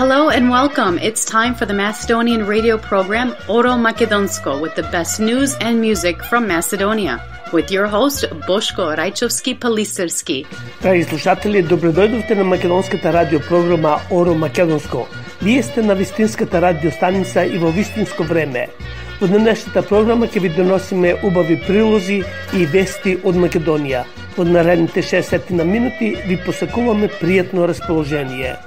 Hello and welcome. It's time for the Macedonian radio program Oro Makedonsko with the best news and music from Macedonia. With your host, Boško Rajčovski-Palisarski. Драги слушатели, добредојдовте на македонската радиопрограма Оро Македонско. Вие сте на вистинската радиостаница и во вистинско време. Во денешната програма ќе ви доносиме убави прилози и вести од Македонија. Во наредните 60 минути ви посакуваме пријатно расположение.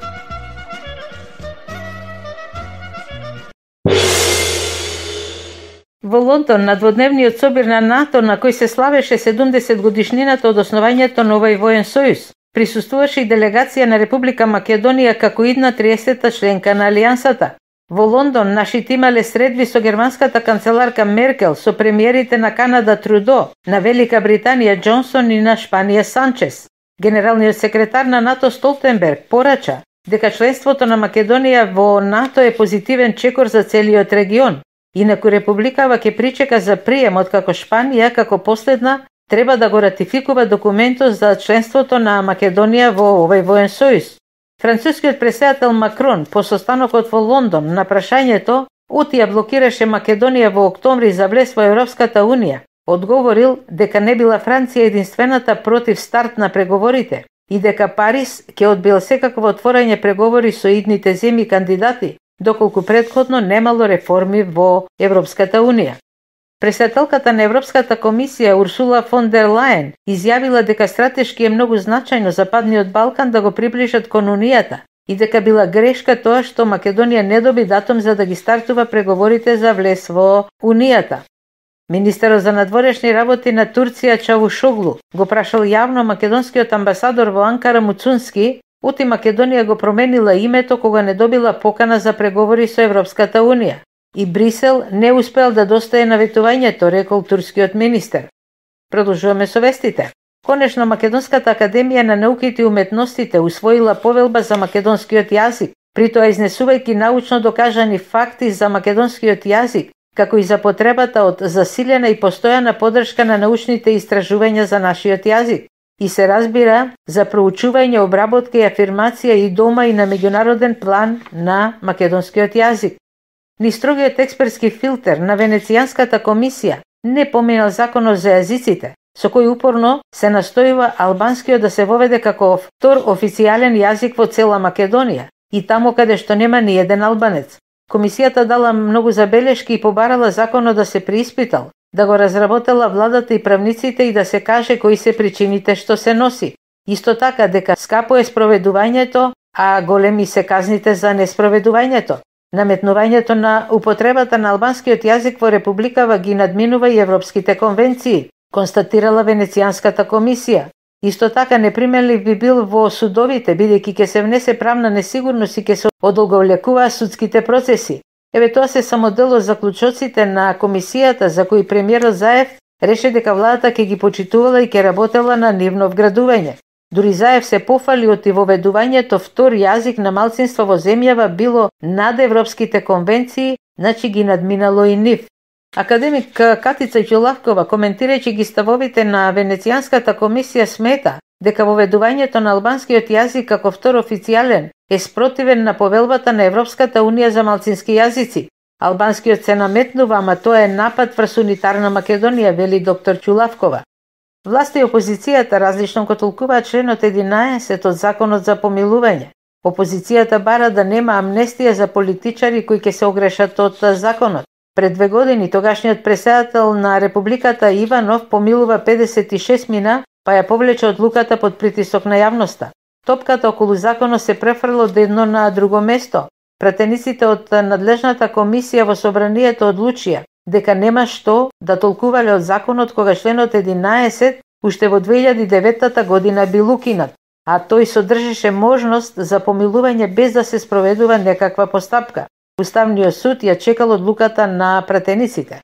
Во Лондон, на дводневниот собир на НАТО, на кој се славеше 70 годишнината од основањето на овој воен сојуз, присуствуваше и делегација на Република Македонија како идна 30-та членка на Алијансата. Во Лондон, нашите имале средби со германската канцеларка Меркел, со премиерите на Канада Трудо, на Велика Британија Џонсон и на Шпанија Санчес. Генералниот секретар на НАТО Столтенберг порача дека членството на Македонија во НАТО е позитивен чекор за целиот регион. Инаку Републикава ќе причека за прием откако Шпанија, како последна, треба да го ратификува документот за членството на Македонија во овој воен сојуз. Францускиот претседател Макрон по состанокот во Лондон на прашањето оти ја блокираше Македонија во октомври за влез во Европската Унија, одговорил дека не била Франција единствената против старт на преговорите и дека Париз ќе одбил секакво отворање преговори со идните земји кандидати, доколку претходно немало реформи во Европската Унија. Претседателката на Европската комисија Урсула фон дер Лајен изјавила дека стратешки е многу значајно Западниот Балкан да го приближат кон Унијата и дека била грешка тоа што Македонија не доби датум за да ги стартува преговорите за влез во Унијата. Министерот за надворешни работи на Турција Чавушоглу го прашал јавно македонскиот амбасадор во Анкара Муцунски оти Македонија го променила името кога не добила покана за преговори со Европската Унија и Брисел не успел да достае наветувањето, рекол турскиот министер. Продолжуваме со вестите. Конечно, Македонската академија на науките и уметностите усвоила повелба за македонскиот јазик, притоа изнесувајќи научно докажани факти за македонскиот јазик, како и за потребата од засилена и постојана поддршка на научните истражувања за нашиот јазик. И се разбира за проучување, обработка и афирмација и дома и на меѓународен план на македонскиот јазик. Ни строгиот експертски филтер на Венецијанската комисија не поминал законот за јазиците, со кој упорно се настојува албанскиот да се воведе како втор официјален јазик во цела Македонија и таму каде што нема ни еден албанец. Комисијата дала многу забелешки и побарала законот да се преиспитал, да го разработела владата и правниците и да се каже кои се причините што се носи. Исто така дека скапо е спроведувањето, а големи се казните за неспроведувањето. Наметнувањето на употребата на албанскиот јазик во Републикава ги надминува и европските конвенции, констатирала Венецијанската комисија. Исто така неприменлив би бил во судовите, бидејќи ќе се внесе правна несигурност и ќе се одолговлекуваат судските процеси. Еве тоа се само дел од заклучоците на комисијата за кои премиерот Заев реше дека владата ќе ги почитувала и ќе работела на нивно вградување. Дури Заев се пофали од воведувањето втор јазик на малцинство во земјава било над европските конвенции, значи ги надминало и нив. Академик Катица Ѓулавкова, коментирајќи ги ставовите на Венецијанската комисија, смета дека воведувањето на албанскиот јазик како втор официјален е спротивен на повелбата на Европската Унија за малцински јазици. Албанскиот се наметнува, ама тоа е напад врз унитарна Македонија, вели доктор Ѓулавкова. Власта и опозицијата различно го толкуваат членот 11 од законот за помилување. Опозицијата бара да нема амнестија за политичари кои ќе се огрешат од законот. Пред 2 години тогашниот претседател на Републиката Иванов помилува 56 мина, па ја повлече одлуката под притисок на јавноста. Топката околу законот се префрла од едно на друго место. Пратениците од надлежната комисија во собранието одлучија дека нема што да толкувале од законот кога членот 11 уште во 2009 година бил укинат, а тој содржеше можност за помилување без да се спроведува некаква постапка. Уставниот суд ја чекал одлуката на пратениците.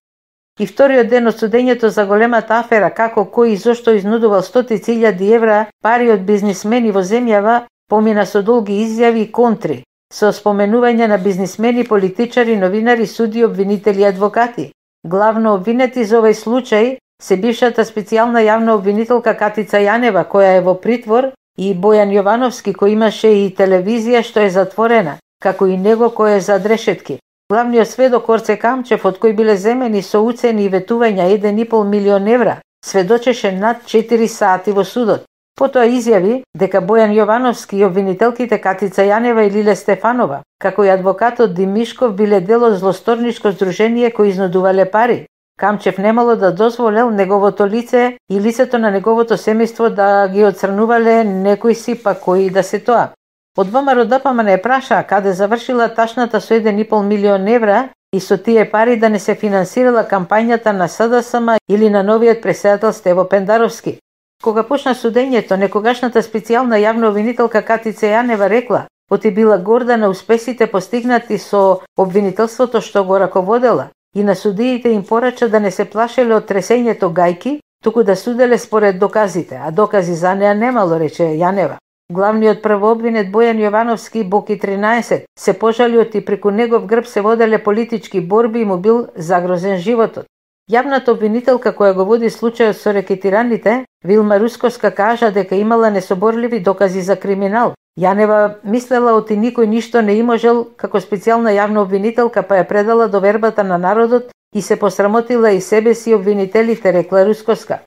И вториот ден од судењето за големата афера како кој и зошто изнудувал стотици илјади евра пари од бизнисмени во земјава помина со долги изјави и контри, со споменување на бизнисмени, политичари, новинари, суди, обвинители и адвокати. Главно обвинети за овој случај се бившата специјална јавна обвинителка Катица Јанева, која е во притвор, и Бојан Јовановски, кој имаше и телевизија што е затворена, како и него кој е зад решетки. Главниот сведок Орце Камчев, од кој биле земени со уцени и ветувања 1,5 милион евра, сведочеше над 4 сати во судот. Потоа изјави дека Бојан Јовановски и обвинителките Катица Јанева и Лиле Стефанова, како и адвокатот Димишков, биле дел од злосторничко здружение кои изнудувале пари. Камчев немало да дозволел неговото лице и лицето на неговото семејство да ги отцрнувале некои си, па кои да се тоа. Од ВМРО ДПМН не праша каде завршила ташната со 1,5 милион евра и со тие пари да не се финансирала кампањата на СДСМ или на новиот претседател Стево Пендаровски. Кога почна судењето, некогашната специјална јавна обвинителка Катица Јанева рекла, оти била горда на успесите постигнати со обвинителството што го раководела и на судиите им порача да не се плашеле од тресењето гајки, туку да суделе според доказите, а докази за неа немало, рече Јанева. Главниот првообвинет Бојан Јовановски, Боки 13, се пожали оти преку негов грб се воделе политички борби и му бил загрозен животот. Јавната обвинителка која го води случајот со рекетираните, Вилма Русковска, кажа дека имала несоборливи докази за криминал. Јанева мислела оти никој ништо не можел како специјална јавна обвинителка, па ја предала до вербата на народот и се посрамотила и себе си обвинителите, рекла Русковска.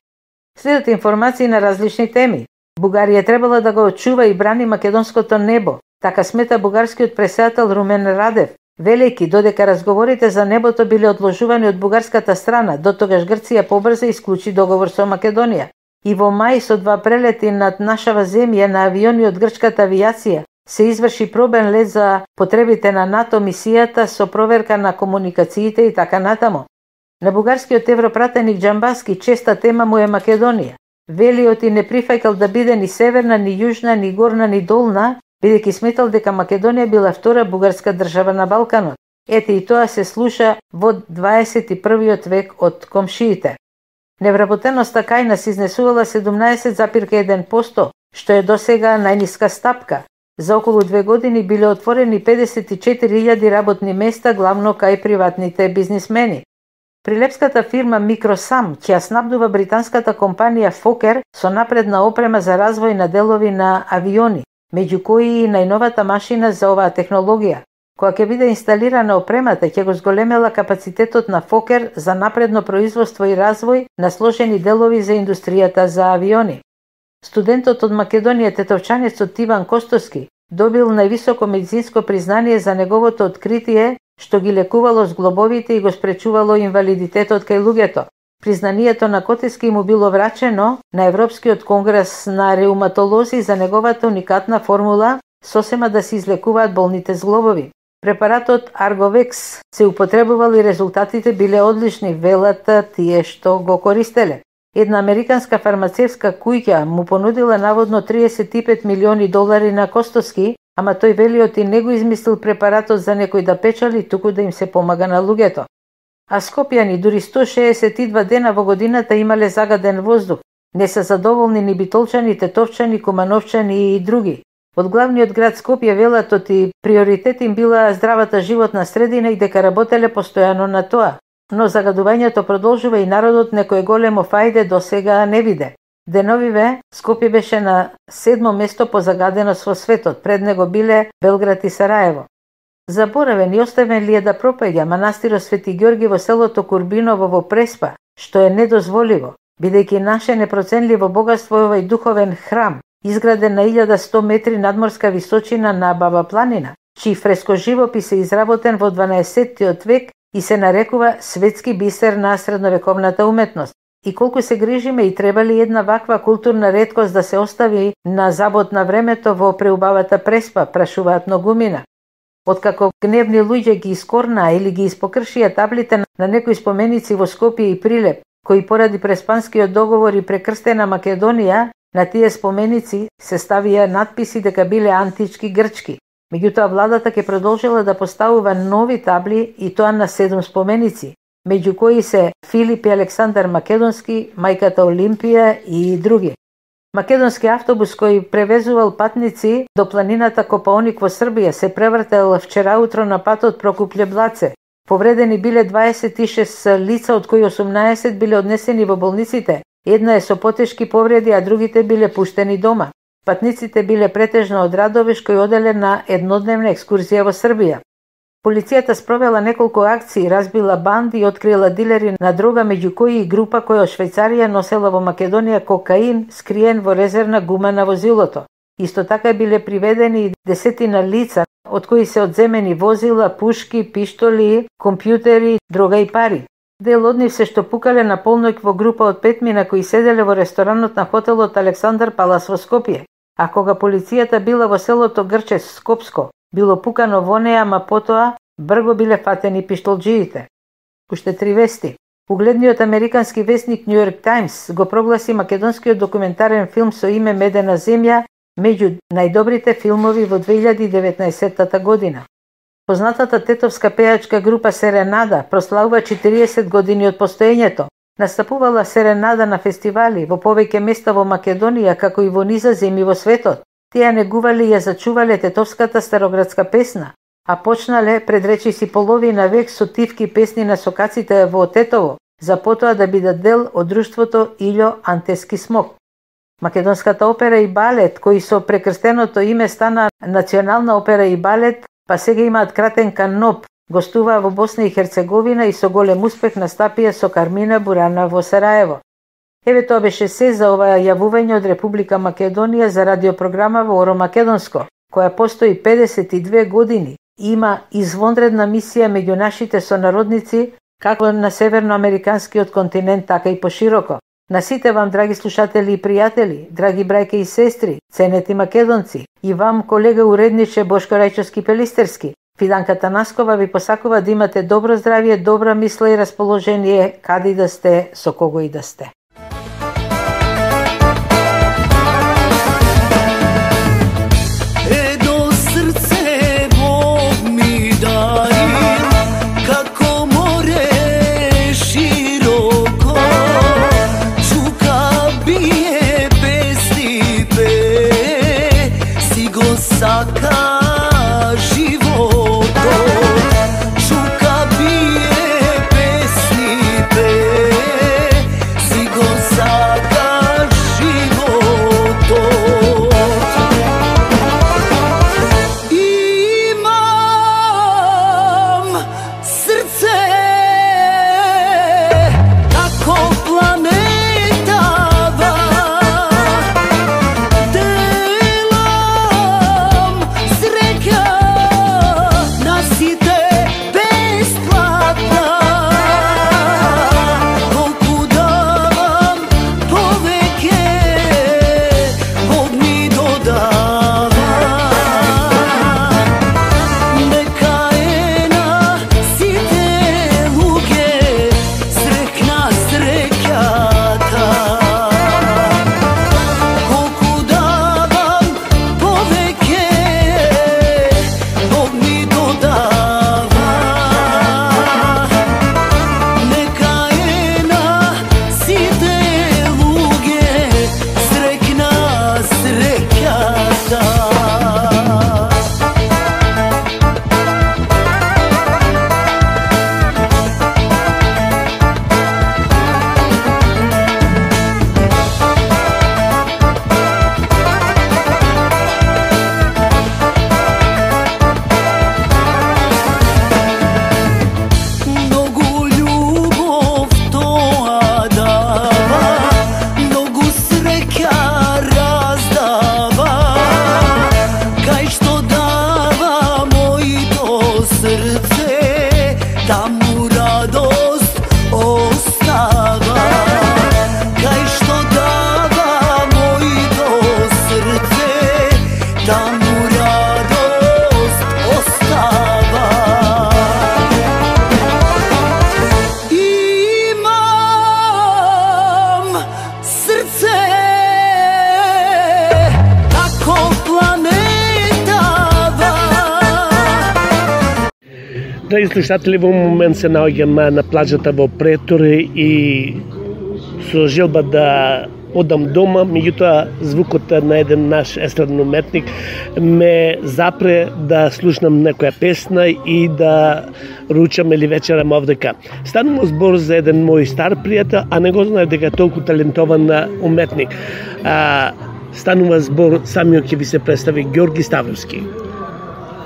Следат информации на различни теми. Бугарија требала да го очува и брани македонското небо, така смета бугарскиот претседател Румен Радев, велејќи додека разговорите за небото биле одложувани од бугарската страна, дотогаш Грција побрза исклучи договор со Македонија. И во мај со 2 прелети над нашава земја на авиони од грчката авиација се изврши пробен лет за потребите на НАТО мисијата со проверка на комуникациите и така натаму. На бугарскиот европратеник Џамбаски честа тема му е Македонија. Велиот и не прифаќал да биде ни северна, ни јужна, ни горна, ни долна, бидејќи сметал дека Македонија била втора бугарска држава на Балканот. Ете и тоа се слуша во 21. век од комшиите. Невработеноста кај нас изнесувала 17,1%, што е досега најниска стапка. За околу 2 години биле отворени 54.000 работни места, главно кај приватните бизнисмени. Прилепската фирма Микросам ќе снабдува британската компанија Фокер со напредна опрема за развој на делови на авиони, меѓу кои и најновата машина за оваа технологија. Кога ќе биде инсталирана опремата, ќе го зголемела капацитетот на Фокер за напредно производство и развој на сложени делови за индустријата за авиони. Студентот од Македонија, тетовчанецот Иван Костоски, добил највисоко медицинско признание за неговото откритие што ги лекувало зглобовите и го спречувало инвалидитетот кај луѓето. Признанието на Котески му било врачено на Европскиот конгрес на реуматолози за неговата уникатна формула сосема да се излекуваат болните зглобови. Препаратот Арговекс се употребувал и резултатите биле одлични, велат тие што го користеле. Една американска фармацевска куќа му понудила наводно $35 милиони на Костоски, ама тој велиот и не го измислил препаратот за некој да печали, туку да им се помага на луѓето. А скопјани дури 162 дена во годината имале загаден воздух. Не се задоволни ни битолчани, тетовчани, кумановчани и други. Од главниот град Скопје велат оти приоритет им била здравата животна средина и дека работеле постојано на тоа. Но загадувањето продолжува и народот некој големо фајде до сега не виде. Деновиве, Скопје беше на 7-мо место по загаденост во светот, пред него биле Белград и Сараево. Заборавен и оставен ли е да пропаѓа манастирот Свети Ѓорги во селото Курбиново во Преспа, што е недозволиво, бидејќи наше непроценливо богатство е овај духовен храм, изграден на 1100 метри надморска височина на Баба планина, чиј фрескоживопис е изработен во 12 век и се нарекува светски бисер на средновековната уметност. И колку се грижиме и треба ли една ваква културна реткост да се остави на забот на времето во преубавата Преспа, прашуваат многумина. Откако гневни луѓе ги искорнаа или ги испокршија таблите на некои споменици во Скопје и Прилеп, кои поради Преспанскиот договор и прекрстена Македонија, на тие споменици се ставија надписи дека биле антички грчки. Меѓутоа владата ќе продолжила да поставува нови табли и тоа на 7 споменици, меѓу кои се Филип и Александар Македонски, мајката Олимпија и други. Македонски автобус кој превезувал патници до планината Копаоник во Србија се превртел вчера утро на патот Прокупле-Блаце. Повредени биле 26 лица, од кои 18 биле однесени во болниците. Една е со потешки повреди, а другите биле пуштени дома. Патниците биле претежно од Радовиш кој оделе на еднодневна екскурзија во Србија. Полицијата спровела неколку акции, разбила банди и открила дилери на дрога, меѓу кои и група која од Швајцарија носела во Македонија кокаин скриен во резервна гума на возилото. Исто така биле приведени и десетина лица, од кои се одземени возила, пушки, пиштоли, компјутери, дрога и пари. Дел од нив се штопукале на полноќ во група од 5 мина кои седеле во ресторанот на хотелот Александар Палас во Скопје. А кога полицијата била во селото Грче Скопско, било пукано во неа, ама потоа брго биле фатени пиштолџиите. Уште 3 вести. Угледниот американски весник New York Times го прогласи македонскиот документарен филм со име Медена земја меѓу најдобрите филмови во 2019 година. Познатата тетовска пејачка група Серенада прославува 40 години од постоењето. Настапувала Серенада на фестивали во повеќе места во Македонија, како и во низа земји во светот. Тие негувале и ја зачувале тетовската староградска песна, а почнале пред речиси половина век со тивки песни на сокаците во Тетово, за потоа да бидат дел од друштвото Илјо Антески смок. Македонската опера и балет, кои со прекрстеното име стана Национална опера и балет, па сега имаат кратен каноп, гостуваа во Босна и Херцеговина и со голем успех настапија со Кармина Бурана во Сараево. Еве тоа беше се за ова јавување од Република Македонија за радиопрограма во Оро Македонско, која постои 52 години и има извонредна мисија меѓу нашите сонародници, како на северноамериканскиот континент, така и пошироко. На сите вам, драги слушатели и пријатели, драги брајке и сестри, ценети македонци, и вам, колега уредниче Бошко Рајчовски-Пелистерски, Фиданка Танаскова ви посакува да имате добро здравје, добра мисла и расположение, каде и да сте, со кого и да сте. Драги слушатели, во момент се наоѓам на плажата во Претор и со желба да одам дома, меѓутоа звукот на еден наш естраден уметник ме запре да слушнам некоја песна и да ручам или вечерам овдека. Станува збор за еден мој стар пријател, а не го знае дека е толку талентован уметник. станува збор, самиот ќе ви се представи Ѓорги Ставровски.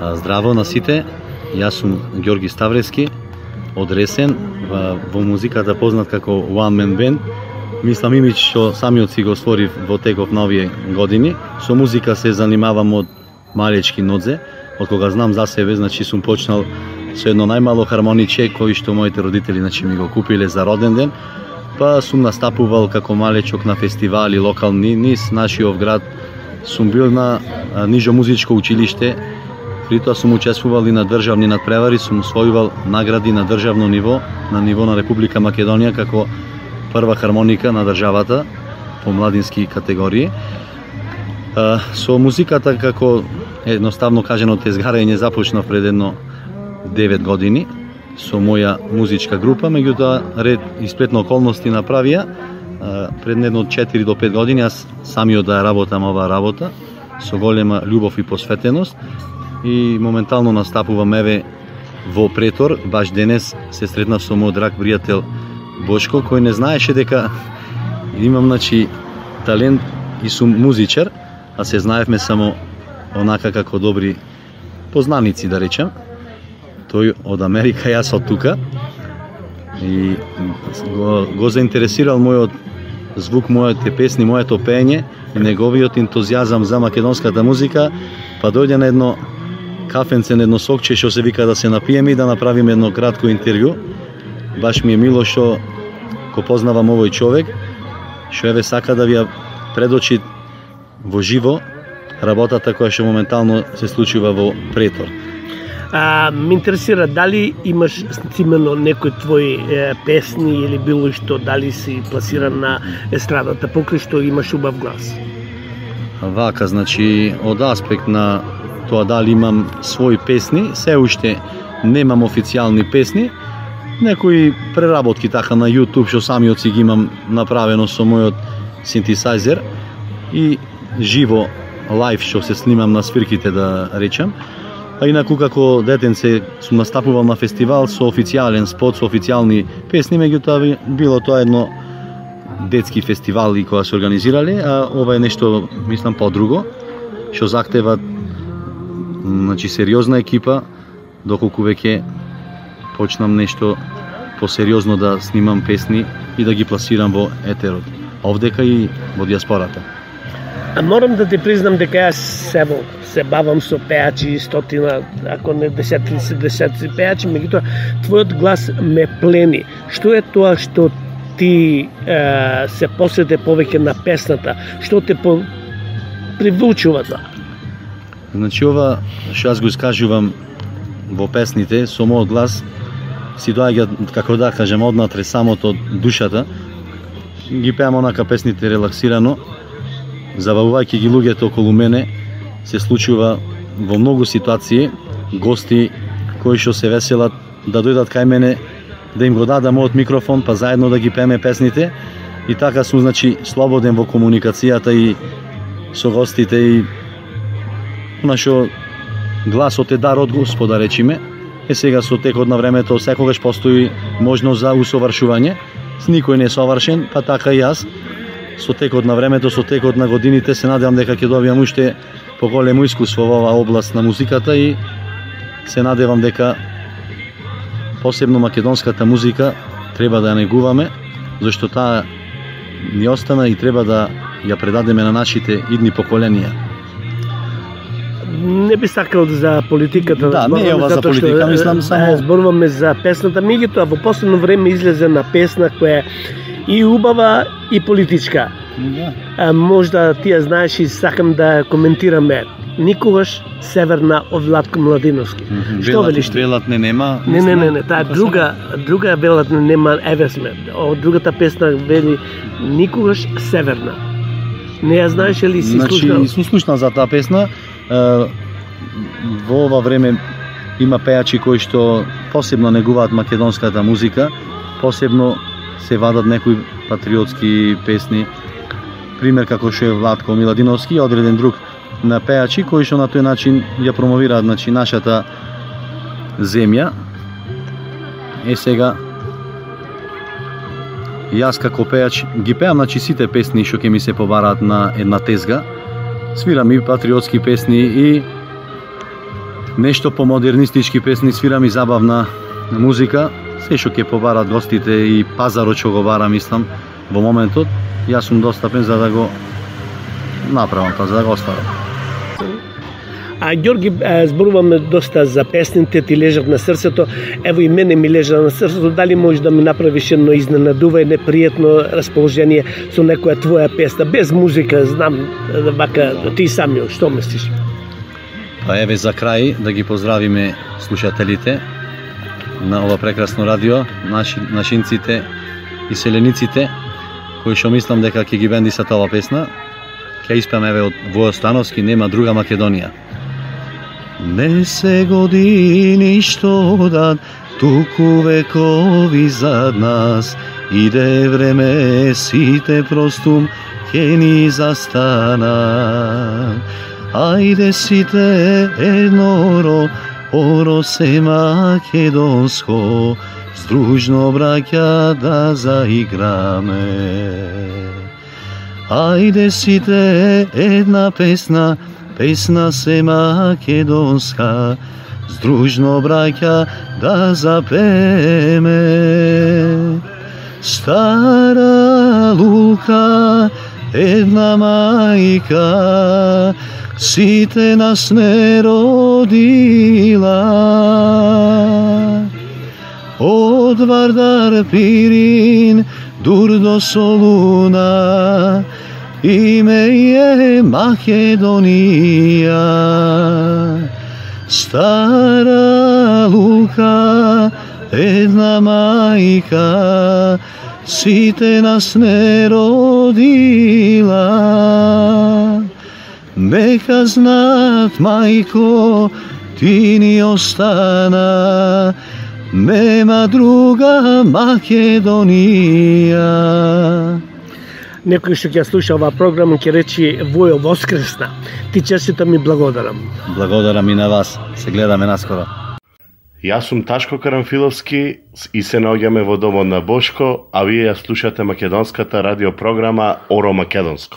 Здраво на сите, јас сум Ѓорги Ставровски, од Ресен, во музиката познат како One Man Band. Мислам имидж што самиот си го створив во теков на овие години. Со музика се занимавам од малечки нодзе, од кога знам за себе, значи сум почнал со едно најмало хармониче кој што моите родители значи ми го купиле за роден ден. Па сум настапувал како малечок на фестивали локални низ нашиот град. Сум бил на нижо музичко училиште. При тоа сум учествувал и на државни надпревари, сум освојувал награди на државно ниво, на ниво на Република Македонија како прва хармоника на државата по младински категории. Со музиката како едноставно кажано тезгарење започнав пред едно 9 години со моја музичка група, меѓутоа ред и сплетно околности направија пред едно 4 до 5 години јас самиот да работам оваа работа со голема љубов и посветеност и моментално настапувам еве во Претор. Баш денес се сретнав со мој драг пријател Бошко, кој не знаеше дека имам значи талент и сум музичар, а се знаевме само онака како добри познаници, да речем. Тој од Америка, јас од тука. И го заинтересирал мојот звук, моите песни, моето пеење и неговиот ентузијазам за македонската музика, па дојде на едно кафенце, на едно сокче што се вика да се напиеме и да направиме едно кратко интервју. Баш ми е мило што го познавам овој човек, што еве сака да ви ја предочи во живо работата која што моментално се случува во Претор. Ме интересира дали имаш именно некои твои песни или било што, дали си пласиран на естрадата, покрај што имаш убав глас? Вака, значи, од аспект на тоа дали имам своји песни, се уште немам официјални песни, некои преработки така на YouTube што самиот си ги имам направено со мојот синтесайзер и живо лайв што се снимам на свирките, да речем. А инаку како детенце сум настапувал на фестивал со официјален спот, со официјални песни, меѓутоа било тоа едно детски фестивал и кога се организирале, а ова е нешто, мислам, подруго, што захтева значи сериозна екипа, доколку веќе почнам нешто посериозно да снимам песни и да ги пласирам во етерот, овдека и во диаспората. Морам да ти признам дека јас се бавам со пеачи, стотина, ако не десетици пеачи, меѓутоа твојот глас ме плени. Што е тоа што ти се посвете повеќе на песната? Што те привлечува тоа? Значи ова што јас го искажувам во песните со мојот глас си доаѓа, како да кажем, однатре самото душата. Ги пеам онака песните релаксирано, забавувајќи ги луѓето околу мене. Се случува во многу ситуации гости кои што се веселат да дојдат кај мене, да им го дадам мојот микрофон, па заедно да ги пееме песните. И така сум, значи, слободен во комуникацијата и со гостите, и нашо гласот е дар од Господа, речиме. Сега со текот на времето секогаш постои можност за усовршување. Никој не е совршен, па така и јас. Со текот на времето, со текот на годините се надевам дека ќе добиам уште поголемо искуство во оваа област на музиката и се надевам дека посебно македонската музика треба да ја негуваме, зашто таа ни остана и треба да ја предадеме на нашите идни поколенија. Не би сакал за политиката да не е ова за политика, мислам само зборуваме за песната. Меѓутоа во последно време излезе на песна која и убава и политичка. Да. Можда ти ја знаеш и сакам да коментираме. Никогаш северна од Владко Младиновски. Што велиш? Велат не нема. Не, таа друга велат не нема, еве сме. Од другата песна вели никогаш северна. Не ја знаеш ли си слушнал? Значи, сум слушнал за таа песна. Во ова време има пеачи кои што посебно негуваат македонската музика, посебно се вадат некои патриотски песни, пример како што е Владко Младиновски и одреден друг на пеачи кои што на тој начин ја промовираат, значи, нашата земја. Сега јас како пеач ги пеам, значи, сите песни што ќе ми се побараат на една тезга, Свирам и патриотски песни и нешто по модернистички песни, свирам и забавна музика. Се што ќе побарат гостите и пазарот што го бара, мислам, во моментот, јас сум достапен за да го направам, за да го оставам. А Ѓорги, зборуваме доста за песните, ти лежат на срцето. Ево и мене ми лежа на срцето. Дали можеш да ми направиш едно изненадување, непријатно расположение со некоја твоја песна, без музика, знам, вака, ти самиот, што мислиш? Па еве за крај да ги поздравиме слушателите на ова прекрасно радио, нашинците и селениците, кои што мислам дека ќе ги бендисат ова песна. Ќе испеам еве од Војо Становски, Нема друга Македонија. Не се години што дат, туку векови зад нас, иде време сите простум ќе ни застана. Ајде сите едноро, оро се македонско, здружно браќа да заиграме. Ајде сите една песна, песна се македонска, здружно браќа да запеме. Стара лука, една мајка, сите нас не родила. Од Вардар Пирин, дур до Солуна, име е Македонија. Стара лука, една мајка, сите нас не родила. Нека знаат, мајко, ти ни остана, нема друга Македонија. Некој што ќе слуша оваа програма ќе речи Војо воскресна. Ти честитам и благодарам. Благодарам и на вас. Се гледаме наскоро. Јас сум Ташко Карамфиловски и се наоѓаме во домот на Бошко, а вие ја слушате македонската радиопрограма Оро Македонско.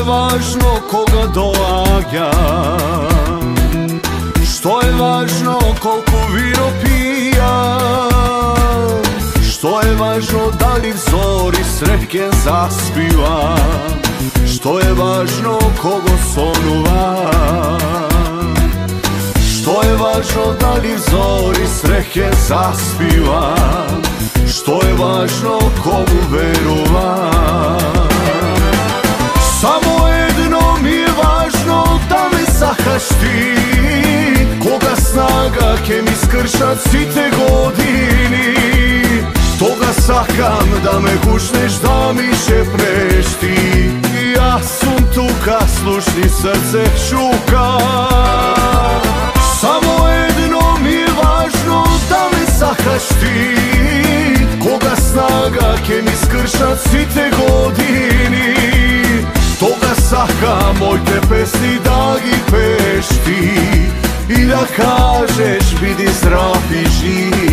Važno koga doaѓa, што е важно колку вино пија, што е важно дали взори среќен заспива, што е важно кого сонува, што е важно дали взори среќен заспива, што е важно кому верува. Само едно ми е важно да ме сакаш ти, кога снага ќе ми скршат сите години. Тога сакам да ме гушнеш, да ми шепнеш ти. Јас сум тука, слушни срце шука. Само едно ми е важно да ме сакаш ти, кога снага ќе ми скршат сите години. Тога сакам моите песни да ги пееш ти и да кажеш биди здрав и жив.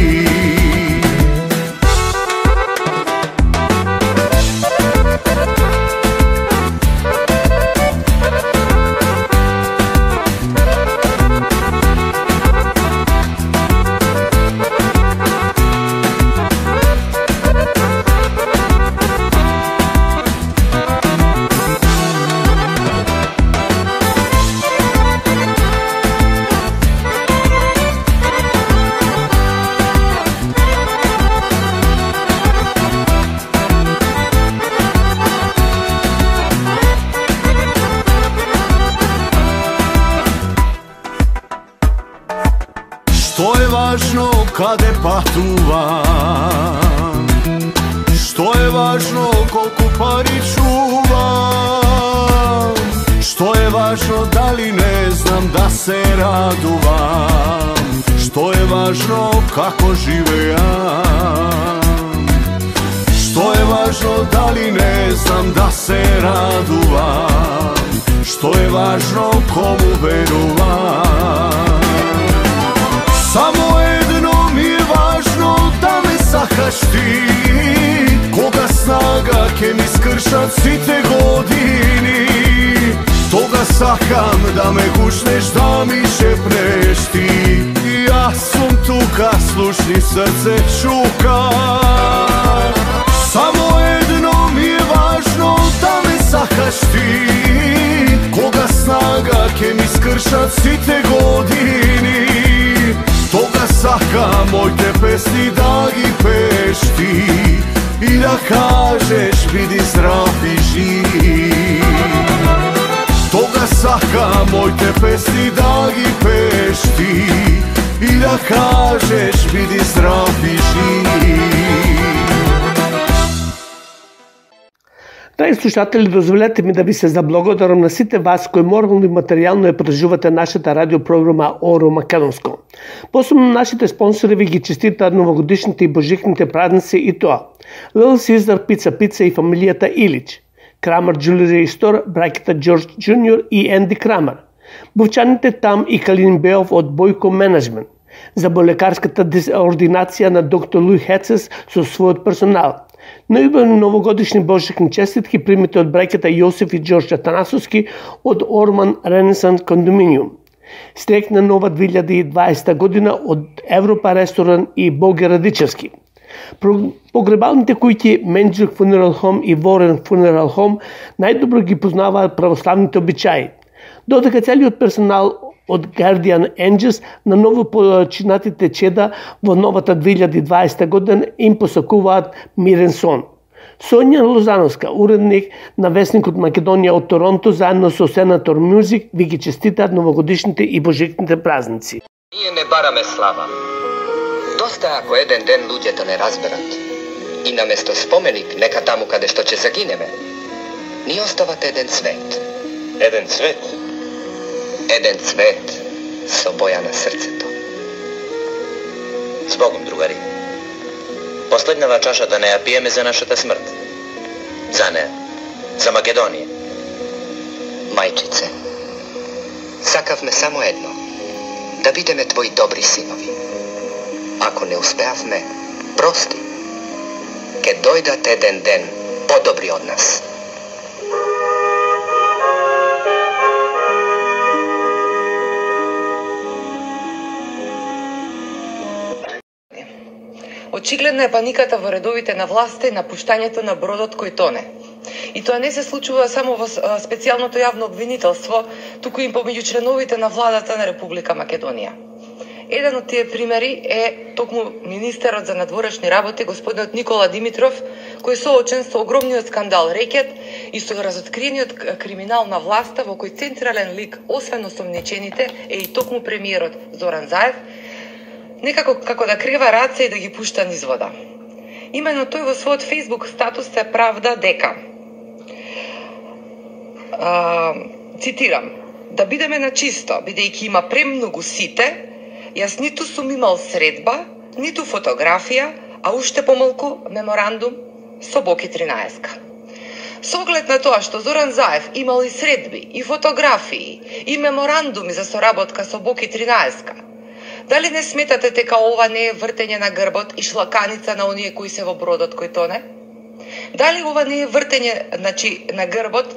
Што е важно каде патувам, што е важно колку пари чувам, што е важно дали не знам да се радувам, што е важно како живеам, што е важно дали не знам да се радувам, што е важно кому верувам. Само едно ми е важно да ме сакаш ти, кога снага ке ми скршат сите години. Тога сакам да ме гушнеш, да ми шепнеш ти. Јас сум тука, слушни срце чука. Само едно ми е важно да ме сакаш ти, кога снага ке ми скршат сите години. Тога сакам моите песни да ги пееш ти и да кажеш биди здрав и жив. Тога сакам моите песни да ги пееш ти и да кажеш биди здрав и жив. Драги слушатели, дозволете ми да ви се заблагодарам на сите вас кои морално и материјално ја преживате нашата радиопрограма Оро Македонско. Посебно нашите спонсори ви ги честитаат новогодишните и божикните празници и тоа: Little Caesar Pizza и фамилијата Илич, Крамер Jewelry Store, браќата Джордж Джуниор и Енди Крамер, Бовчаните Там и Калин Беов од Бојко Менеджмент, заболекарската ординација на доктор Луи Хецес со својот персонал. Најубави новогодишни божикни честитки примите од браќата Јосиф и Ѓорѓ Атанасовски од Орман Ренесанс кондоминиум. Среќна нова 2020 година од Европа ресторан и Боге Радичевски. Погребалните куќи Менџук Funeral Home и Ворен Funeral Home најдобро ги познаваат православните обичаи. Додека целиот персонал од Guardian Angels на ново починатите чеда во новата 2020 година им посакуваат мирен сон. Сонја Лозановска, уредник на весникот Македонија од Торонто, заедно со Сенатор Мюзик, ви ги честитаат новогодишните и божикните празници. Ние не бараме слава. Доста ако еден ден луѓето не разберат и наместо споменик нека таму каде што ќе загинеме, ни остават еден цвет. Еден цвет? Еден цвет со боја на срцето. Збогом, другари. Последнава чаша да не ја пиеме за нашата смрт. За неа. За Македонија. Мајчице, сакавме само едно. Да бидеме твои добри синови. Ако не успеавме, прости. Ке дојдат еден ден подобри од нас. Очигледна е паниката во редовите на власта и напуштањето на бродот кој тоне. И тоа не се случува само во специјалното јавно обвинителство, туку и помеѓу членовите на владата на Република Македонија. Еден од тие примери е токму министерот за надворешни работи, господинот Никола Димитров, кој соочен со огромниот скандал Рекет и со разоткриениот криминал на власта, во кој централен лик, освен осомничените, е и токму премиерот Зоран Заев, некако како да крева раце и да ги пушта низ вода. Именно тој во својот Facebook статус се правда дека, цитирам, да бидеме на чисто, бидејќи има премногу сите, јас ниту сум имал средба, ниту фотографија, а уште помалку меморандум со Боки 13. Со оглед на тоа што Зоран Заев имал и средби, и фотографии, и меморандуми за соработка со Боки 13, дали не сметате дека ова не е вртење на грбот и шлаканица на оние кои се во бродот кој тоне? Дали ова не е вртење на грбот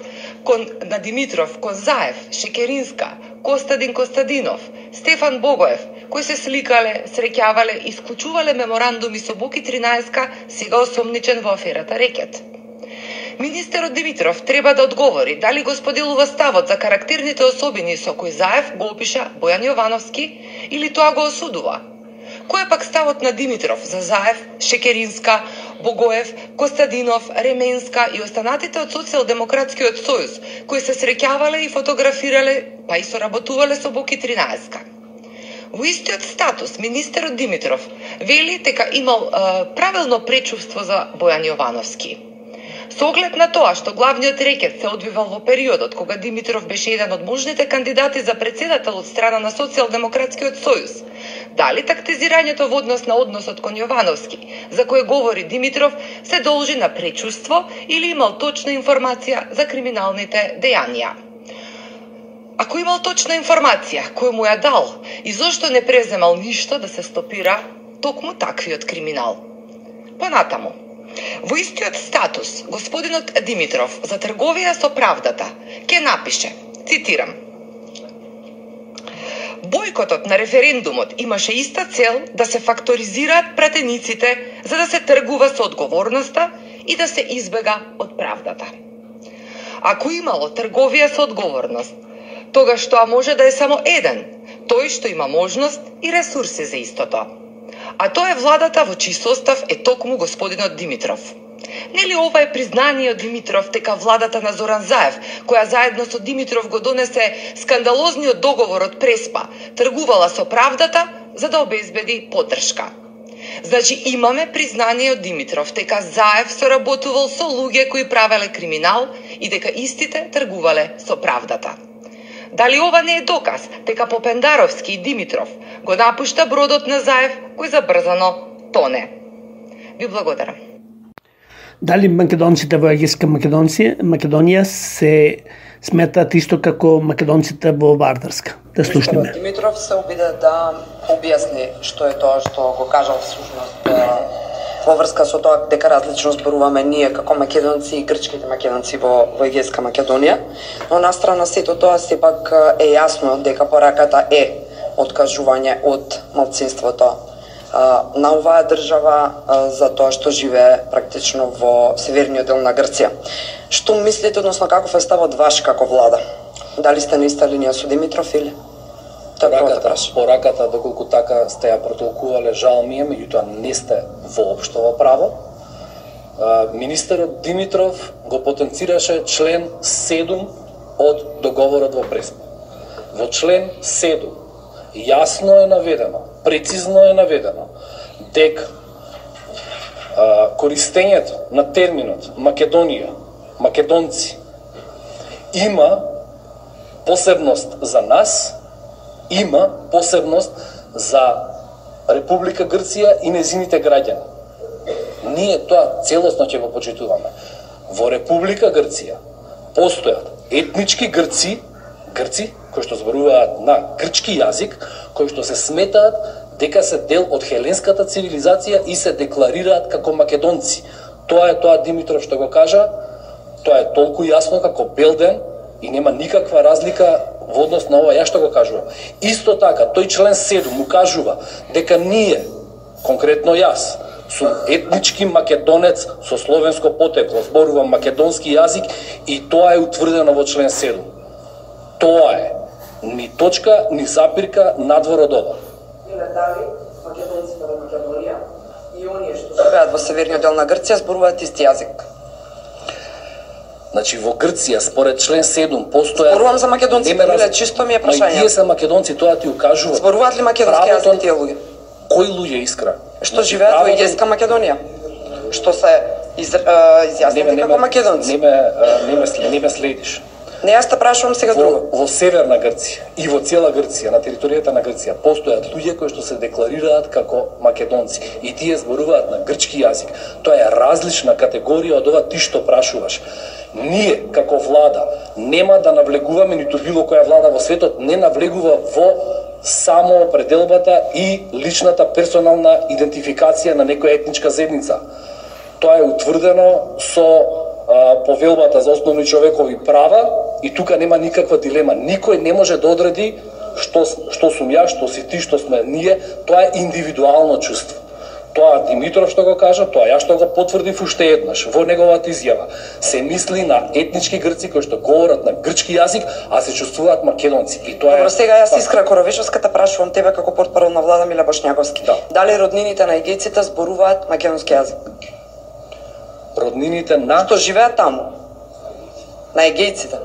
на Димитров, кон Заев, Шекеринска, Костадин Костадинов, Стефан Богоев, кои се сликале, среќавале и склучувале меморандуми со Боки 13, сега осомничен во аферата Рекет? Министерот Димитров треба да одговори дали го споделува ставот за карактерните особини со кои Заев го опиша Бојан Јовановски или тоа го осудува. Кој е пак ставот на Димитров за Заев, Шекеринска, Богоев, Костадинов, Ременска и останатите од Социјалдемократскиот сојуз, кои се среќавале и фотографирале, па и соработувале со Боки 13? Во истиот статус, министерот Димитров вели дека имал правилно пречувство за Бојан Јовановски. Со оглед на тоа што главниот рекет се одвивал во периодот кога Димитров беше еден од можните кандидати за председател од страна на Социјалдемократскиот сојуз, дали тактизирањето во однос на односот кон Јовановски, за кој говори Димитров, се должи на пречувство или имал точна информација за криминалните дејанија? Ако имал точна информација, кој му ја дал и зошто не преземал ништо да се стопира токму таквиот криминал? Понатаму, во истиот статус, господинот Димитров за трговија со правдата ќе напише, цитирам: Бојкотот на референдумот имаше иста цел да се факторизираат пратениците за да се тргува со одговорноста и да се избега од правдата. Ако имало трговија со одговорност, тогаш тоа може да е само еден, тој што има можност и ресурси за истото. А тоа е владата во чиј состав е токму господинот Димитров. Нели ова е признание од Димитров дека владата на Зоран Заев, која заедно со Димитров го донесе скандалозниот договор од Преспа, тргувала со правдата за да обезбеди поддршка? Значи имаме признание од Димитров дека Заев соработувал со луѓе кои правеле криминал и дека истите тргувале со правдата. Дали ова не е доказ дека Попендаровски и Димитров го напушта бродот на Заев кој забрзано тоне? Ви благодарам. Дали македонците во Егејска Македонија се сметаат исто како македонците во Вардарска? Да слушнеме. Димитров се обиде да објасни што е тоа што го кажал всушност во врска со тоа дека различно зборуваме ние како македонци и грчките македонци во Егејска Македонија, но настрана сето тоа сепак е јасно дека пораката е откажување од малцинството на оваа држава за тоа што живее практично во северниот дел на Грција. Што мислите, односно каков е ставот ваш како влада? Дали сте на иста линија со Димитров или? Пораката, доколку така сте ја протолкувале, жал ми е, меѓутоа не сте воопшто во право. Министерот Димитров го потенцираше член 7 од договорот во Преспа. Во член 7 јасно е наведено, прецизно е наведено дека користењето на терминот Македонија, македонци, има посебност за нас, има посебност за Република Грција и незините граѓани. Ние тоа целосно ќе го почитуваме. Во Република Грција постојат етнички грци кои што зборуваат на грчки јазик, кои што се сметаат дека се дел од хеленската цивилизација и се декларираат како македонци. Тоа е тоа Димитров што го кажа, тоа е толку јасно како бел ден и нема никаква разлика во однос на ова ја што го кажувам. Исто така, тој член 7 му кажува дека ние, конкретно јас, сум етнички македонец со словенско потекло, зборувам македонски јазик и тоа е утврдено во член 7. Тоа е. Ни точка, ни запирка надвор од ова. Иле дали македонците во Македонија и оние што живеат во северниот дел на Грција зборуваат исти јазик? Значи во Грција според член 7 постоја. Зборувам за македонците, иле чисто ми е прашање. Тие се македонци, тоа ти укажува. Зборуваат ли македонски јазик тие луѓе? Кои луѓе, Искра? Што живеат во Егејска Македонија? Што се изјаснети како македонци? Не ме следиш. Не, јас те прашувам сега друго. Во северна Грција и во цела Грција, на територијата на Грција, постојат луѓе кои што се декларираат како македонци и тие зборуваат на грчки јазик. Тоа е различна категорија од ова ти што прашуваш. Ние, како влада, нема да навлегуваме, ниту било која влада во светот не навлегува во самоопределбата и личната персонална идентификација на некоја етничка заедница. Тоа е утврдено со повелбата за основни човекови права и тука нема никаква дилема. Никој не може да одреди што сум ја, што си ти, што сме ние. Тоа е индивидуално чувство. Тоа Димитров што го кажа, тоа ја што го потврдив уште еднаш во неговата изјава. Се мисли на етнички грци кои што говорат на грчки јазик, а се чувствуваат македонци. И тоа Добро, сега јас Искра Коровечевска те прашувам тебе како портпарол на влада Миле Бошњаковски. Да. Дали роднините на егејците зборуваат македонски јазик? Роднините на што живеат таму, на егејците.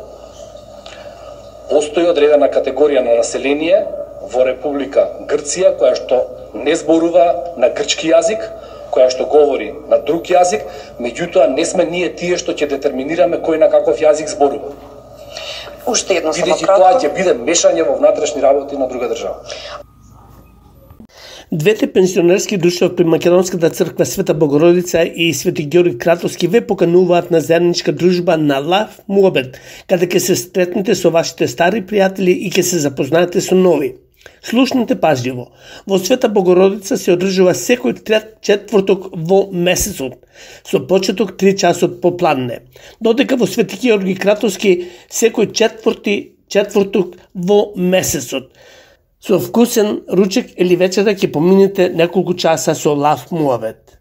Постои одредена категорија на население во Република Грција, која што не зборува на грчки јазик, која што говори на друг јазик, меѓутоа не сме ние тие што ќе детерминираме кој на каков јазик зборува. Уште едно само бидејќи кратко. тоа ќе биде мешање во внатрешни работи на друга држава. Двете пенсионерски друштва при Македонската црква Света Богородица и Свети Георги Кратовски ве покануваат на заедничка дружба на Лав Муабет, каде ќе се стретнете со вашите стари пријатели и ќе се запознаете со нови. Слушнете пажливо. Во Света Богородица се одржува секој четврток во месецот, со почеток 3 часот попладне, додека во Свети Георги Кратовски секој четврток во месецот. Со вкусен ручек или вечера ќе поминете неколку часа со Лав Муавет.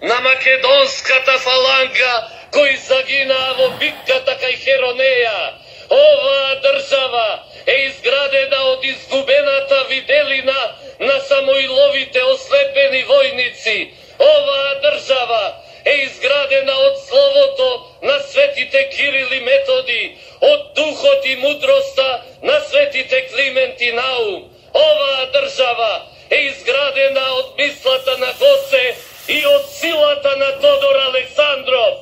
на македонската фаланга кои загинаа во битката кај Херонеја. Оваа држава е изградена од изгубената виделина на Самоиловите ослепени војници. Оваа држава е изградена од словото на светите Кирил и Методи, од духот и мудроста на светите Климент и Наум. Оваа држава е изградена од мислата на Гоце и од силата на Тодор Александров.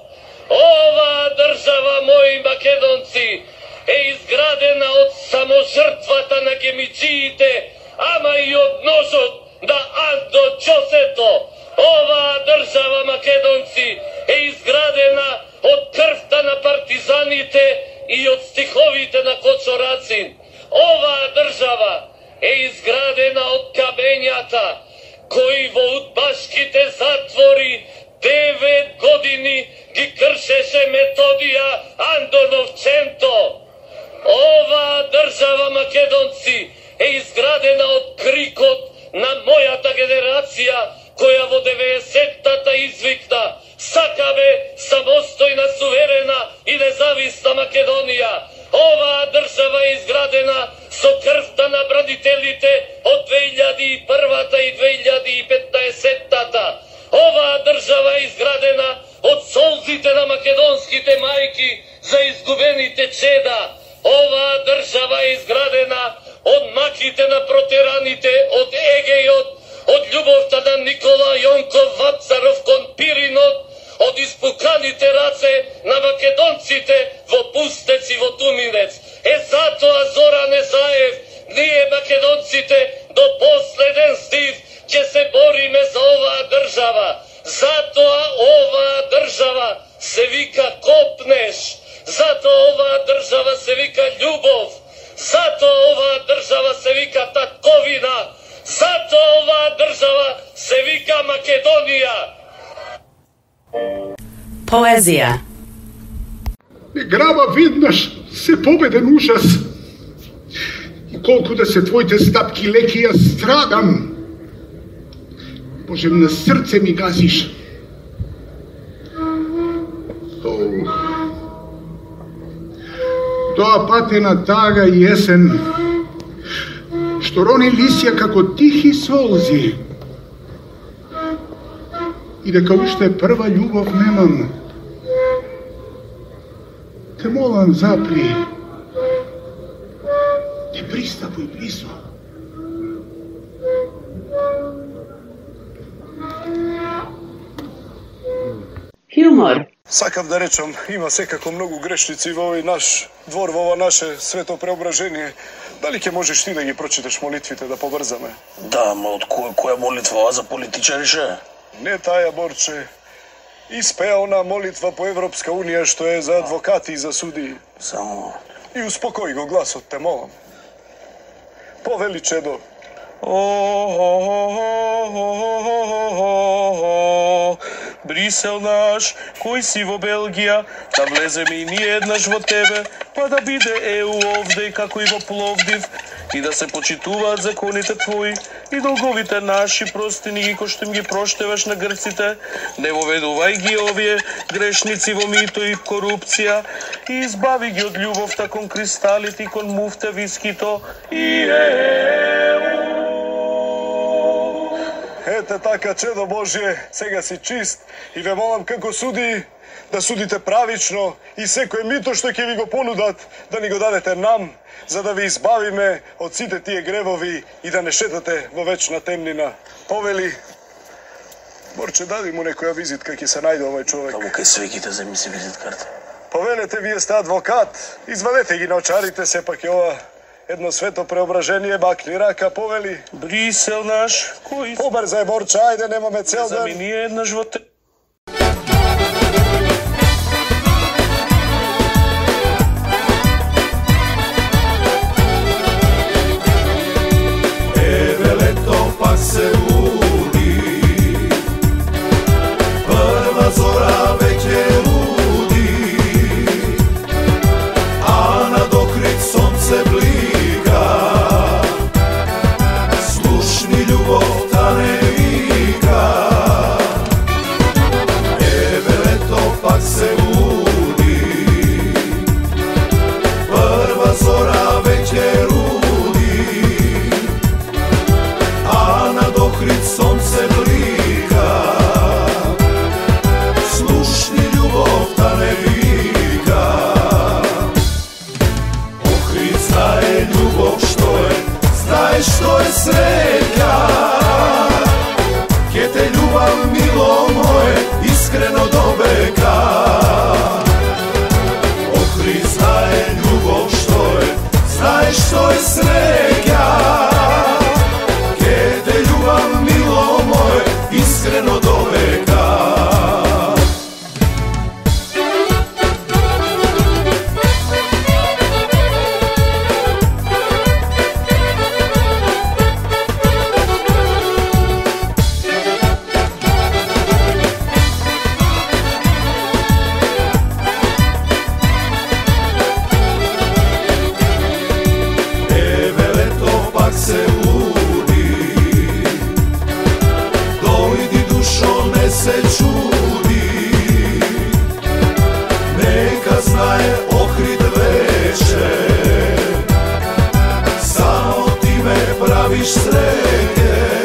Оваа држава, мои македонци, е изградена од саможртвата на гемиджиите, ама и од ножот на Андо Џосето. Оваа држава, македонци, е изградена од крвта на партизаните и од стиховите на Кочорацин. Оваа држава е изградена од камењата кои во удбашките затвори 9 години ги кршеше Методија Андоновченто. Оваа држава, македонци, е изградена од крикот на мојата генерација, која во 90-тата извикна: сакаме самостојна, суверена и независна Македонија. Оваа држава е изградена со крвта на бранителите од 2001-та и 2015-тата. Оваа држава е изградена од солзите на македонските мајки за изгубените чеда. Оваа држава е изградена од маките на протераните од Егејот, од љубовта на Никола Јонков Вапцаров кон Пиринот, од испуканите раце на македонците во Пустец и во Туминец. Затоа, Зоране Заев, ние македонците до последен здив ќе се бориме за оваа држава. Затоа оваа држава се вика Копнеш. Затоа оваа држава се вика љубов. Затоа оваа држава се вика татковина. Затоа оваа држава се вика Македонија. Поезија. Грава веднаш се победен ужас. И колку да се твоите стапки леки, ја страдам. Боже, на срце ми газиш. Тоа патена тага и есен, што рони лисја како тихи солзи. И дека уште прва љубов немам. Те молам, запри. Не пристапуј близо. Хумор. Сакам да речам, има секако многу грешници во овој наш двор, во ова наше свето преображение. Дали ќе можеш ти да ги прочиташ молитвите, да побрзаме? Да, ма од која молитва за политичари ше? Не таја, Борче. Испеа она молитва по Европска Унија што е за адвокати и за судии. Само... И успокои го гласот, те молам. Повели, чедо. Брисел наш, кој си во Белгија, да влеземе и ние еднаш во тебе, па да биде ЕУ овде како и во Пловдив, и да се почитуваат законите твои и долговите наши, прости ни ги кој што им ги проштеваш на грците, не воведувај ги овие грешници во мито и корупција и избави ги од љубовта кон кристалите и кон муфта вискито и Ете така, чедо Божие, сега си чист и ве молам како суди да судите правично и секој мито што ќе ви го понудат да ни го дадете нам, за да ви избавиме од сите тие гревови и да не шетате во вечна темнина. Повели, Борче, дади му некоја визитка, ќе се најде овој човек. Каму кај свеките земи си визиткарта. Повелете, вие сте адвокат, извадете ги на очарите, сепак е ова едно свето преображение, бакни рака, повели. Брисел наш, кој... Побрзај, Борче, ајде, немаме цел ден. Замени еднаш во те... Еве лето пак се буди, прва зора веќе луди, а на докрит сонце блика, слушни љубовта не вика. Еве лето пак се буди, прва зора веќе луди, а на докрит сонце блика, слушни љубовта не вика. Охрид знае љубов што е, знае што е среќа, ке те љубам, мило моје, искрено до века. Охрид знае љубов што е, знае што е среќа, мило моје, искрено до века. Еве лето пак се не се чуди, нека знае Охрид вече, само ти ме правиш среќен.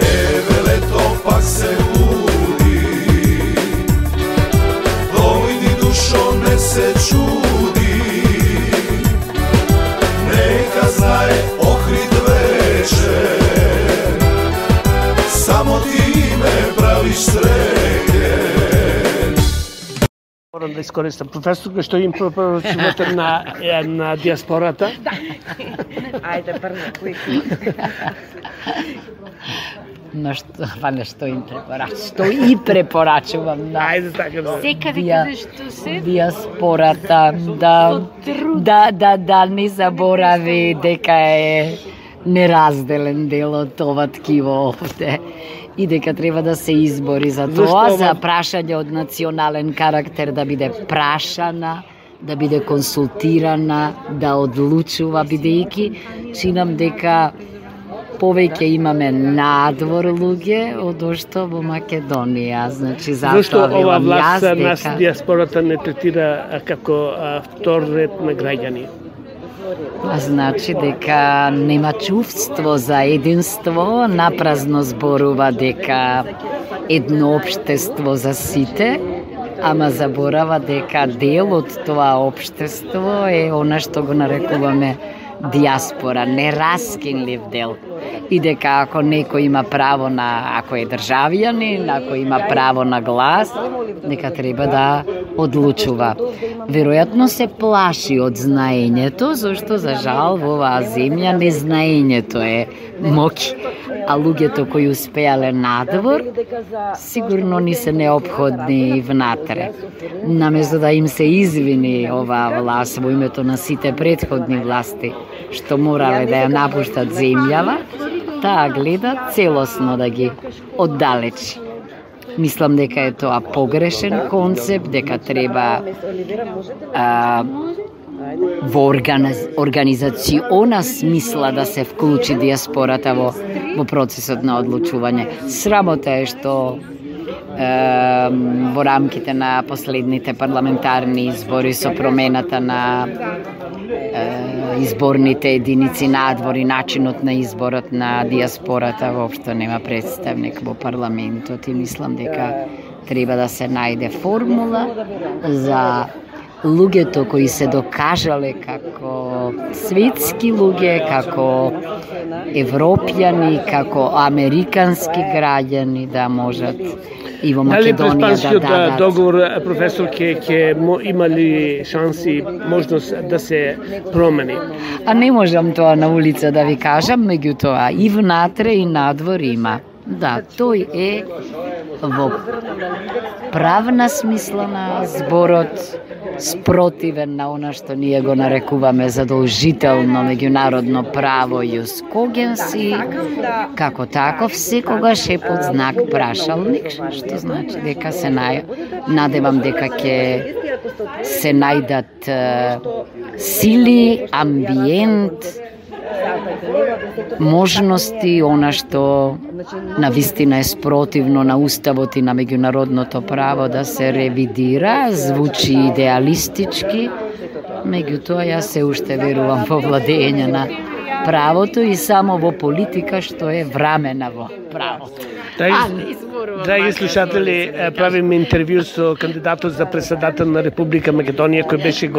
Еве лето пак се буди, се чуди. Нека знае Охрид вечер, само ти ме правиш среќен. Морам да искористам професорка што им препорачувате на диаспората. Ајде, прво, кој? Што им препорачувам? Што и препорачувам. Ајде, така да. Сека ви кажеш што се? Диаспората, да не заборави дека е неразделен дел од ова ткиво овде. И дека треба да се избори за тоа, за прашање од национален карактер, да биде прашана, да биде консултирана, да одлучува, бидејќи чинам дека повеќе имаме надвор луѓе од што во Македонија. Значи, зашто ова власт нас диаспората не третира како втор ред на граѓани? Значи дека нема чувство за единство, напразно зборува дека едно општество за сите, ама заборава дека дел од тоа општество е она што го нарекуваме диаспора, нераскинлив дел. И дека ако некој има право на, ако е државјанин, ако има право на глас, дека треба да одлучува. Веројатно се плаши од знаењето, зашто за жал во оваа земја незнаењето е моќ, а луѓето кои успеале надвор, сигурно ни се неопходни внатре. Наместо да им се извини оваа власт во името на сите претходни власти, што морале да ја напуштат земјава, таа гледа целосно да ги оддалечи. Мислам дека е тоа погрешен концепт, дека треба во организациона смисла да се вклучи диаспората во процесот на одлучување. Срамота е што во рамките на последните парламентарни избори со промената на изборните единици надвор и начинот на изборот на диаспората воопшто нема представник во парламентот и мислам дека треба да се најде формула за луѓето кои се докажале како светски луѓе, како европјани, како американски граѓани да можат и во Македонија да дадат. Дали договор, професор, ќе има ли шанси, можност да се промени? А не можам тоа на улица да ви кажам, меѓутоа и внатре и надвор има. Да, тој е во правна смисла на зборот спротивен на она што ние го нарекуваме задолжително меѓународно право јус когенси, како таков секогаш е под знак прашалник, што значи дека се надевам дека ќе се најдат сили, амбиент, можности, она што навистина е спротивно на уставот и на меѓународното право да се ревидира, звучи идеалистички, меѓутоа јас се уште верувам во владење на правото и само во политика што е врамена во правото. Драги слушатели, правиме интервју со кандидатот за председател на Република Македонија, кој беше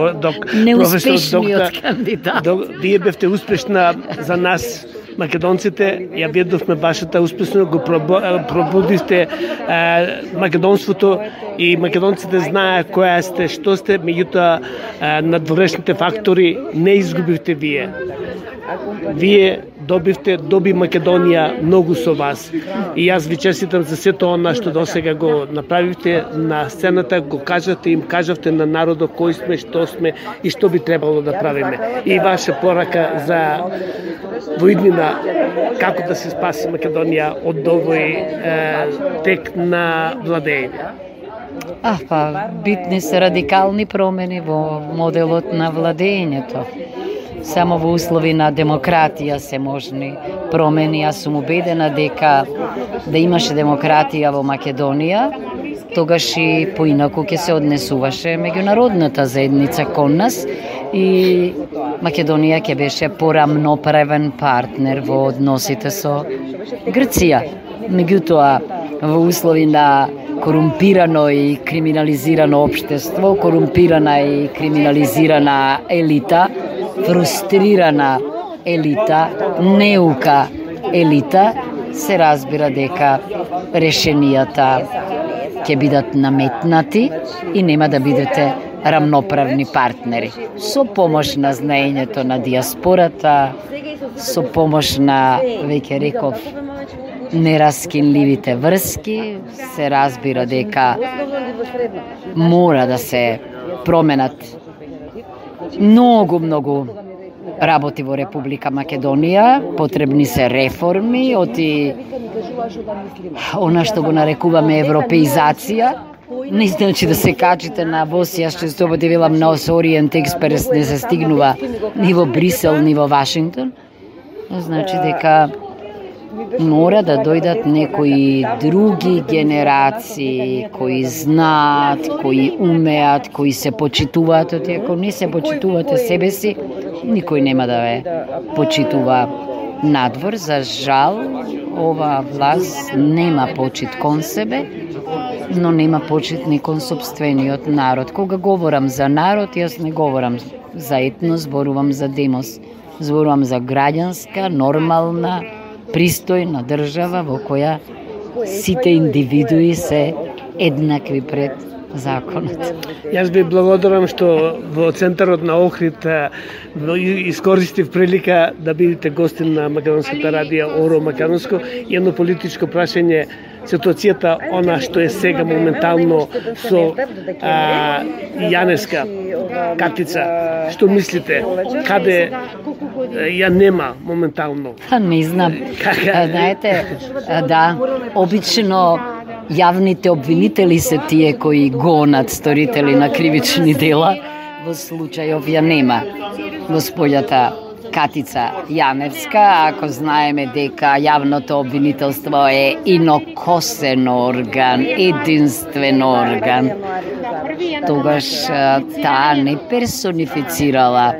неуспешниот кандидат. Вие бевте успешна за нас, македонците, ја видовме вашата успешност, го пробудивте македонството и македонците знаеа која сте, што сте, меѓутоа надворешните фактори не изгубивте вие. Вие доби Македонија многу со вас. И јас ви честитам за сето она што досега го направивте на сцената, го кажавте, им кажавте на народот кој сме, што сме и што би требало да правиме. И ваша порака за воиднина како да се спаси Македонија од овој тек на владење. Битни се радикални промени во моделот на владењето. Само во услови на демократија се можни промени. Јас сум убедена дека да имаше демократија во Македонија, тогаш и поинаку ќе се однесуваше меѓународната заедница кон нас и Македонија ќе беше порамноправен партнер во односите со Грција. Меѓутоа, во услови на корумпирано и криминализирано општество, корумпирана и криминализирана елита, фрустрирана елита, неука елита, се разбира дека решенијата ќе бидат наметнати и нема да бидете рамноправни партнери. Со помош на знаењето на диаспората, со помош на, веќе реков, нераскинливите врски, се разбира дека мора да се променат многу работи во Република Македонија, потребни се реформи, оти она што го нарекуваме европеизација. Не значи да се качите на воз, јас често пати велам на Ориент Експрес не се стигнува ни во Брисел, ни во Вашингтон. Значи дека мора да дојдат некои други генерации кои знаат, кои умеат, кои се почитуваат. Оти ако не се почитувате себе си, никој нема да ве почитува надвор. За жал, ова власт нема почит кон себе, но нема почит ни кон сопствениот народ. Кога говорам за народ, јас не говорам за етнос, зборувам за демос. Зборувам за граѓанска, нормална, пристојна држава во која сите индивидуи се еднакви пред законот. Јас ви благодарам што во центарот на Охрид искористив прилика да бидете гостин на Македонската радија Оро Македонско. Едно политичко прашање, ситуацијата она што е сега моментално со Јаневска Катица, што мислите? Каде ја нема моментално? Не знам. Знаете, да, обично јавните обвинители се тие кои гонат сторители на кривични дела. Во случајов ја нема госпоѓата Катица Јаневска, ако знаеме дека јавното обвинителство е инокосен орган, единствен орган, тогаш таа не персонифицирала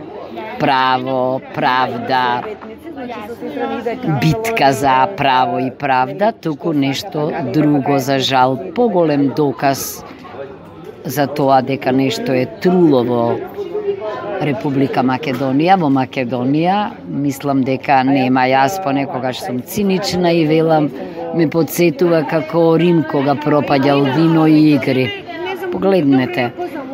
право, правда, битка за право и правда, туку нешто друго, за жал, поголем доказ за тоа дека нешто е труло во Република Македонија. Во Македонија мислам дека нема, јас понекогаш сум цинична и велам, ме подсетува како Рим кога пропаѓал вино и игри. Погледнете,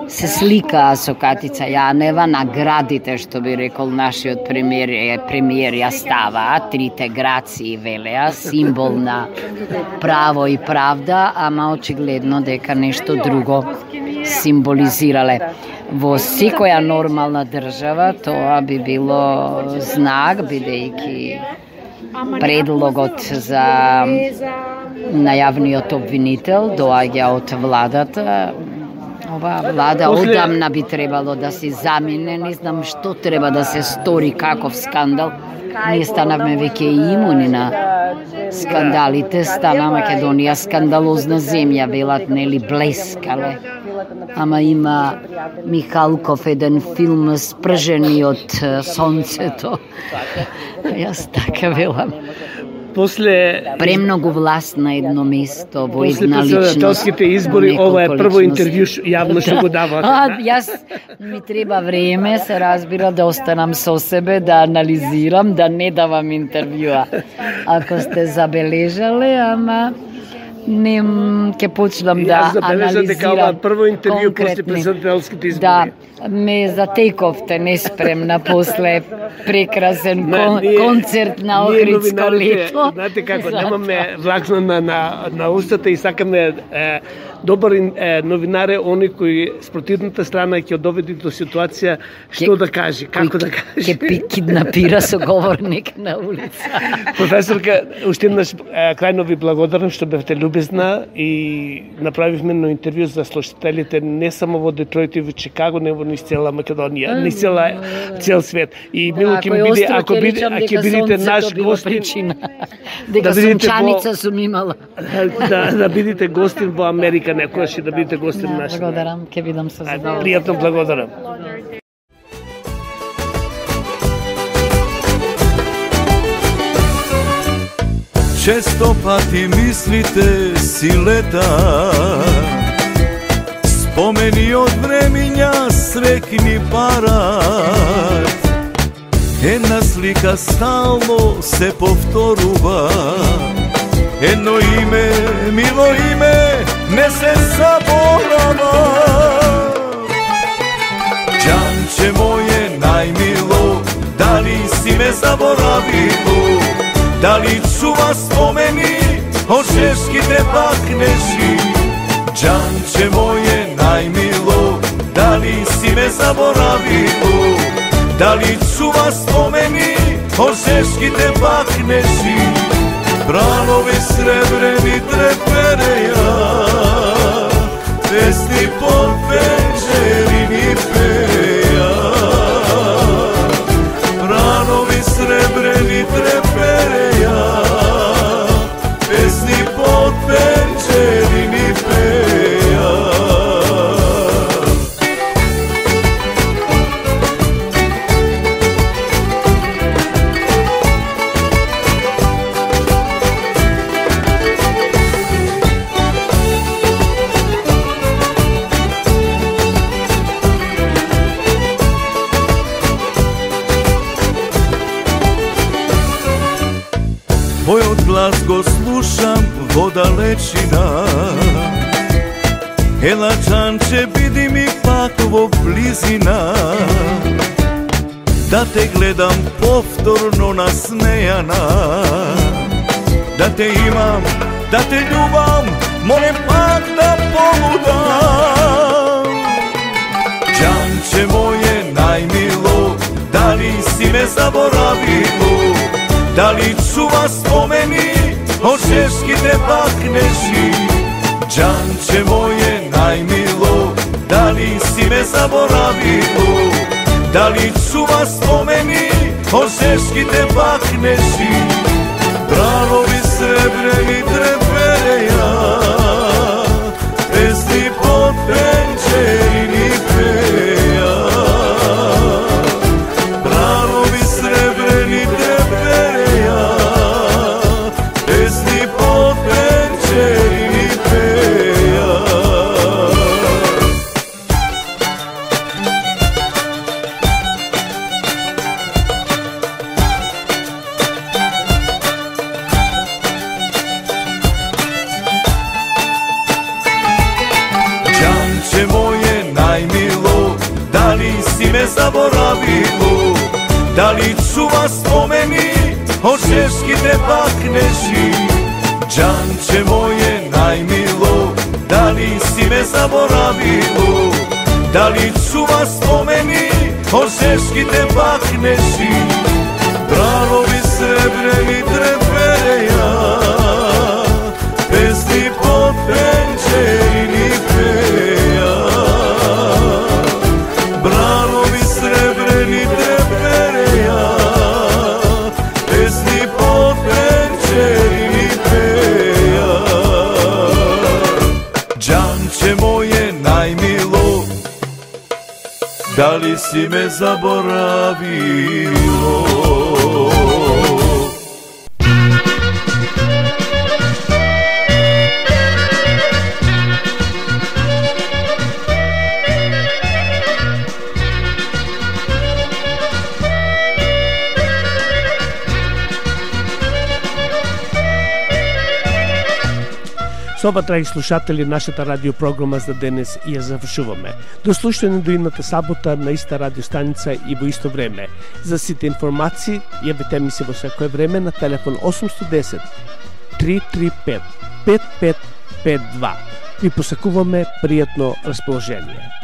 се сликаа со Катица Јанева, наградите, што би рекол нашиот премиер ја ставаа, трите грации велеа, символ на право и правда, ама очигледно дека нешто друго символизирале. Во секоја нормална држава тоа би било знак, бидејќи предлогот за најавниот обвинител доаѓа од владата. Ова влада одамна би требало да се замине, не знам што треба да се стори, каков скандал. Ние станавме веќе имуни на скандалите, стана Македонија скандалозна земја, велат, нели, блескале. Ама има Михалков еден филм Спржени од сонцето. Јас така велам. После премногу власт на едно место, во една личност. После председателските избори, ова е прво интервју јавно што го давате. Јас ми треба време, се разбира, да останам со себе, да анализирам, да не давам интервјуа. Ако сте забележале, ама не ќе почнам да анализирам дека ова прво интервју после председателските избори. Да, ме затековте неспремна после прекрасен концерт на Охридско лето. Знаете како, немаме влакна на устата и сакаме добар новинар е оној кој спротивната страна ќе доведе до ситуација што да каже, како да каже. Ќе киднапира соговорник на улица. Професорка, уште еднаш крајно ви благодарам што бевте љубезна и направивме едно интервју за слушателите не само во Детройт и во Чикаго, него низ цела Македонија, низ цел свет. И мило ќе ми биде ако бидете наш гостин. Дека сончаница сум имала. Да бидете гостин во Америка некојаш и да бидете гостин наш. Благодарам, ќе бидам со задоволство. Пријатно, благодарам. Често пати мислите си лета, спомени од времиња срекни парат. Една слика стално се повторува, едно име, мило име, не се заборава. Џанче моје најмило, дали си ме заборавило? Дали чува спомени од чешките бакнежи? Џанче моје најмило, дали си ме заборавило? Дали чува спомени од чешките бакнежи? Бранови сребрени трепереја, песни под пенџери ни пеја. Бранови сребрени трепереја, песни под пенџери ни пеја. Твојот глас го слушам во далечина. Ела Џанче, биди ми пак во близина, да те гледам повторно насмејана, да те имам, да те љубам, молем пак да полудам. Џанче моје најмило, дали си ме заборавило? Дали чува спомени од чешките бакнежи? Џанче моје најмило, дали си ме заборавило? Дали чува спомени од чешките бакнежи? Бранови сребрени трепереја, песни под пенџери ни пеја. Бранови сребрени трепереја, песни под пенџери ни пеја. Џанче моје најмило, дали си ме заборавило? Дали чува спомени од чешките бакнежи? Џанче моје најмило, дали си ме заборавило? Дали чува спомени од чешките бакнежи? Бранови сребрени трепереја, песни под пенџери ни пеја. Бранови сребрени трепереја, песни под пенџери ни пеја. Џанче моје најмило, дали си ме заборавило? Со ова, драги слушатели, нашата радиопрограма за денес ја завршуваме. До слушање до идната сабота на иста радиостаница и во исто време. За сите информации, јавете ми се во секое време на телефон 810 335 5552. Ви посакуваме пријатно расположение.